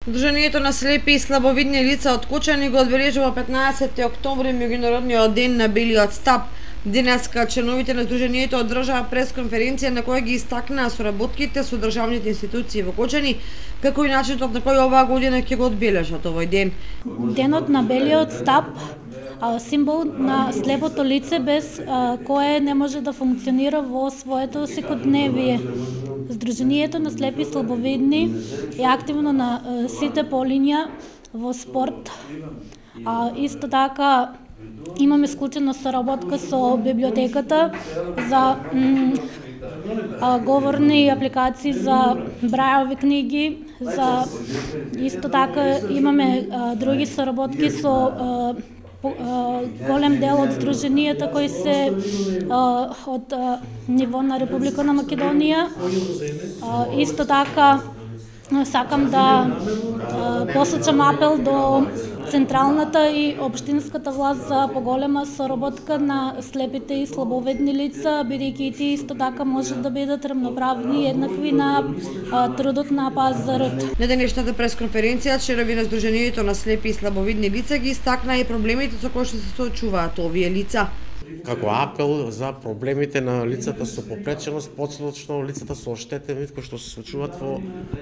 Дружението на слепи и слабовидни лица од Кочани го одбележува 15 октомври меѓународниот ден на белиот стап. Денеска членовите на Дружението одржаа пресконференција на која ги истакнаа соработките со државните институции во Кочани, како и начинот на кој оваа година ќе го одбележат овој ден. Денот на белиот стап символ на слепото лице без кое не може да функционира во своето секојдневие. Сдруженијето на слепи и слабовидни е активно на сите полиња во спорт. Исто така имаме склучена соработка со библиотеката за говорни апликации за брајови книги, за исто така имаме други соработки со голем дел од сдруженијата кои се од ниво на Република на Македонија. Исто така сакам да посочам апел до централната и општинската власт за поголема соработка на слепите и слабовидни лица, бидејќи и тие исто така може да бидат рамноправни и еднакви на трудот на пазарот. На денешната пресконференција членови на Сдруженијето на слепи и слабовидни лица ги истакнаа и проблемите со кои што се соочуваат овие лица. Како апел за проблемите на лицата со попреченост, поточно лицата со оштетен вид кои што се случуваат во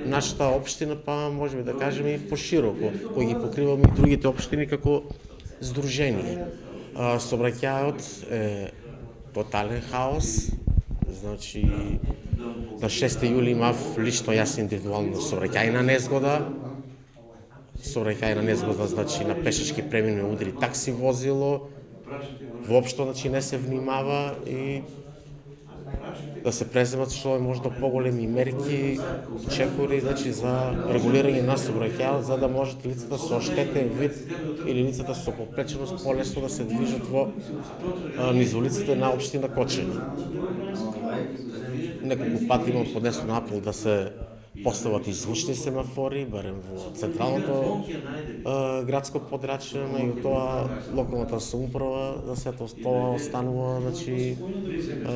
нашата општина, па можеме да кажеме и пошироко, кои ги покриваме и другите општини како здружение. Сообраќајот е тотален хаос, значи на 6 јули имав лично јас индивидуално сообраќајна незгода. Сообраќајна незгода значи на пешачки премин ме удри такси возило. Воопшто значи не се внимава и да се преземат што е можда поголеми мерки, чекори значи за регулирање на сообраќајот, за да можат лицата со оштетен вид или лицата со попреченост полесно да се движат во низ улиците на општина Кочани. Неколку пати имам поднесен апел да се постават и звучни семафори, барем во централното градско подрачје, и тоа локалната самоуправа, да се тоа останува значи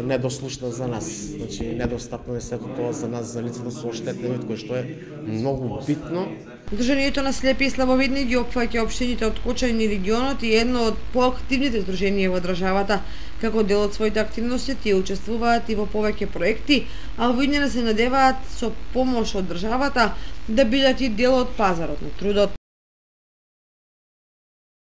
недослушна за нас. Значи недостапно е сето тоа за нас, за лицата со оштетен вид, кој што е многу битно. Дружението на слепи и слабовидни ги опфаќа општините од Кочани и регионот и едно од поактивните здруженија во државата. Како дел од своите активности тие учествуваат и во повеќе проекти, а во иднина се надеваат со помош од државата да бидат и дел од пазарот на трудот.